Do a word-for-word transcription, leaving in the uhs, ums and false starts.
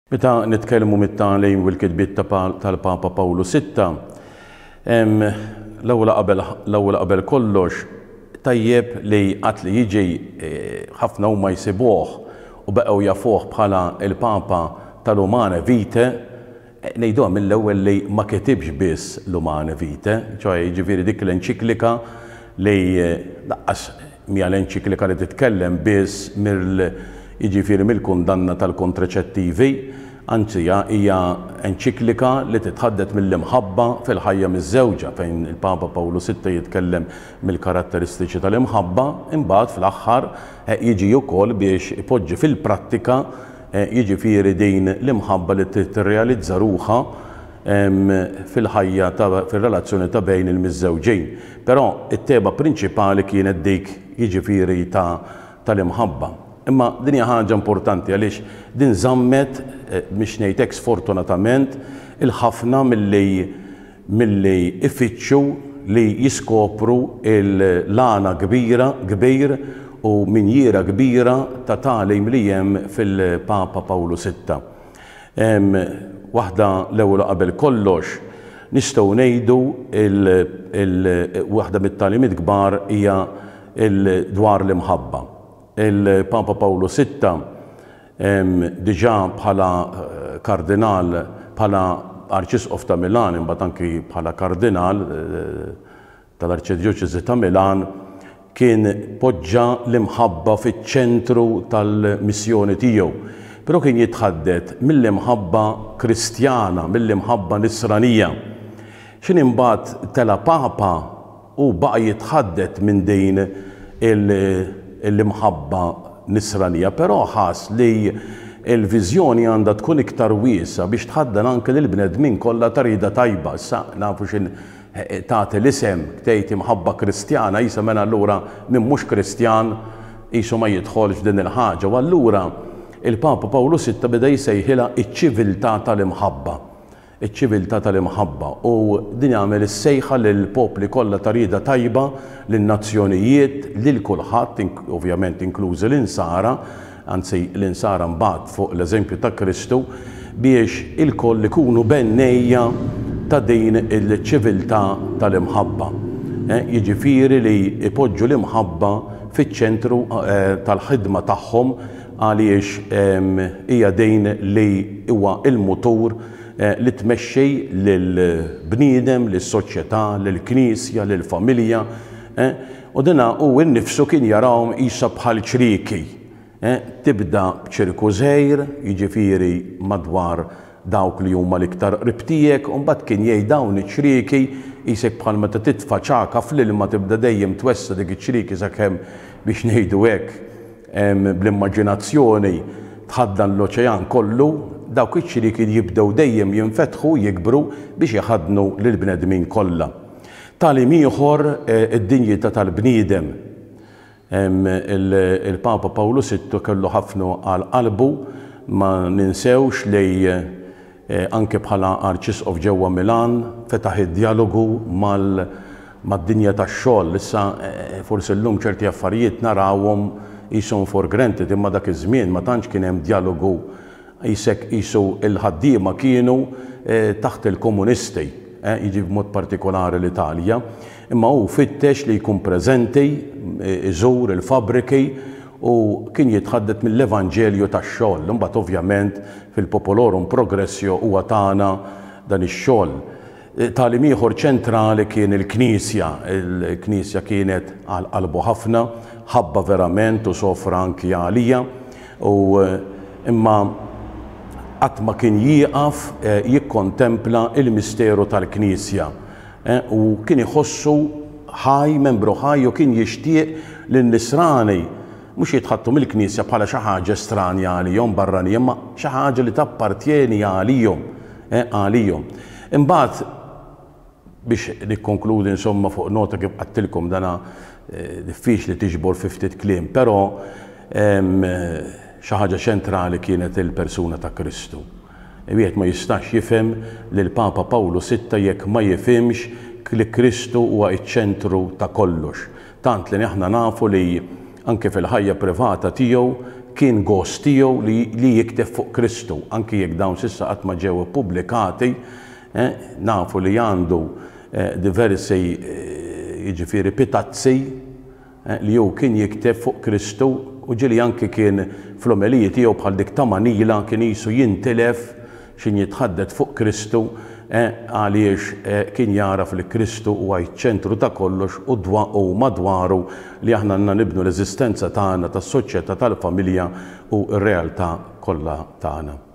Meta nitkellmu mit-tagħlim u l-kitbiet tal-Papa Pawlu Sitta, l-ewwel qabel l-ewwel qabel kollox tajjeb li qatt li jiġi ħafna huma jsibuh u baqgħu jafuh bħala il-Papa tal-Humanae Vitae. Ngħiduha mill-ewwel li ma kitibx biss l-Humanae Vitae, ċoè jiġifieri dik l-enċiklika li lanqas mija l-enċiklika li titkellem biss mill jiġifieri mill-kundanna tal-kontraċettivi, anzi hija enċiklika li titħaddet mill-imħabba fil-ħajja miż-żewġa, fejn il-Papa Pawlu Sitta jitkellem mill-karatteristiċi tal-imħabba, imbagħad fl-aħħar jiġi wkoll biex ipoġġi fil-prattika jiġifieri din l-imħabba li tirrealizza ruħha fil-ħajja, fil-relazzjoni ta' bejn il-miżżewġin. Però it-tema prinċipali kienet dik jiġifieri tal-imħabba. Imma din hija ħaġa importanti għaliex din żammet, biex ngħid hekk sfortunatament, il-ħafna milli milli ifittxu li jiskopru l-għana kbira kbir u minjiera kbira ta' tagħlim li hemm fil-Papa Pawlu Sitta. Waħda l-ewwel qabel kollox nistgħu ngħidu waħda mit-tagħlimiet kbar hija dwar l-imħabba. Il-Papa Pawlu Sitta diġà bħala kardinal, bħala arċisqof ta' Milan, imbagħad anki bħala kardinal tal-Arċidjoċesi ta' Milan, kien poġġa l-imħabba fiċ-ċentru tal-missjoni tiegħu. Però kien jitħaddet mill-imħabba kristjana, mill-imħabba nisranija. X'in imbagħad tela Papa u baqa' jitħaddet minn din l-imħabba nisranija, però ħass li l-viżjoni għandha tkun iktar wiesa biex tħaddan anke lill-bnedmin kollha ta' rieda tajba. Issa nafu x'in tagħti l-isem tgħid imħabba kristjana, jisa mela allura min mhux kristjan qisu ma jidħolx f'din il-ħaġa. U allura il-Papa Pawlu Sitta beda jsejħilha iċ-ċiviltà tal-imħabba. Iċ-ċiviltà tal-imħabba. U din jagħmel is-sejħa lill-popli kollha ta' rieda tajba, lin-nazzjonijiet, lil kulħadd, ovvjament inklużi l-insara, anzi l-insara mbagħad fuq l-eżempju ta' Kristu, biex ilkoll ikunu bennejja ta' din il-ċiviltà tal-imħabba. Jiġifieri li ipoġġu l-imħabba fiċ-ċentru tal-ħidma tagħhom għaliex hija din li huwa il-mutur li tmexxi lill-bniedem, lis-soċjetà, lill-knisja, lill-familja. U dina hu nnifsu kien jarahom qisha bħal ċrieki. Tibda b'ċirku żgħir, jiġifieri madwar dawk li huma l-iktar qrib tiegħek, u mbagħad kien jgħid dawn iċ-ċrieki qisek bħal meta titfa' ċaka fl-ilma tibda dejjem twessa dik iċ-ċrieki sakemm biex ngħidu hekk bl-immaġinazzjoni tħaddan l-oċean kollu, dawk iċ-ċrieki jibdew dejjem jinfetħu jikbru biex iħaddnu lill-bnedmin kollha. Tagħlim ieħor id-dinjità tal-bniedem. Il-Papa Pawlu Sittu kellu ħafna għal qalbu, ma ninsewx li anke bħala arċisqof ġewwa Milan fetaħ id-dialogu mad-dinja tax-xogħol. Issa forsi llum ċerti affarijiet narawhom qishom for granted, imma dak iż-żmien ma tantx kien hemm dialogu, qisek qisu l-ħaddiema kienu taħt il-komunisti, jiġi b'mod partikolari l-Italja. Imma hu fittex li jkun preżenti, iżur il-fabriki u kien jitħaddet mill-Evanġelju tax-xogħol. Imbagħad ovvjament fil-Populorum Progressio huwa tagħna dan ix-xogħol. Tagħlim ieħor ċentrali kien il-Knisja. Il-Knisja kienet għal qalbu ħafna, ħabba verament u sofra anki għalija, u imma qatt ma kien jieqaf jikkontempla il-misteru tal-Knisja. U kien iħossu ħaj, membru ħaj, u kien jixtieq lin-nisrani mhux jitħattu mill-Knisja bħala xi ħaġa stranja għalihom barranija, imma xi ħaġa li tappartjeni għalihom, għalihom. Imbagħad biex nikkonkludi insomma fuq nota kif qattilkom dana diffiċli tiġbor fi ftit kliem, però xi ħaġa ċentrali kienet il-persuna ta' Kristu. Wieħed ma jistax jifhem lil Papa Pawlu Sitta jekk ma jifhimx li Kristu huwa ċ-ċentru ta' kollox. Tant li aħna nafu li anke fil-ħajja privata tiegħu kien gost tiegħu li, li jikteb fuq Kristu, anki jekk dawn s'issa qatt ma ġew ippubblikati, eh, nafu li għandu eh, diversi eh, jiġifieri pitazzi eh, li hu kien jikteb fuq Kristu u ġieli anki kien fl-omeliji tiegħu bħal dik ta' Manila kien jisu jintilef x'ħin jitħaddet fuq Kristu eh, għaliex eh, kien jaraf li Kristu huwa ċ-ċentru ta' kollox u dwa u madwaru li aħna għandna nibnu l-eżistenza tagħna tas-soċjetà, tal-familja u r-realtà kollha tagħna.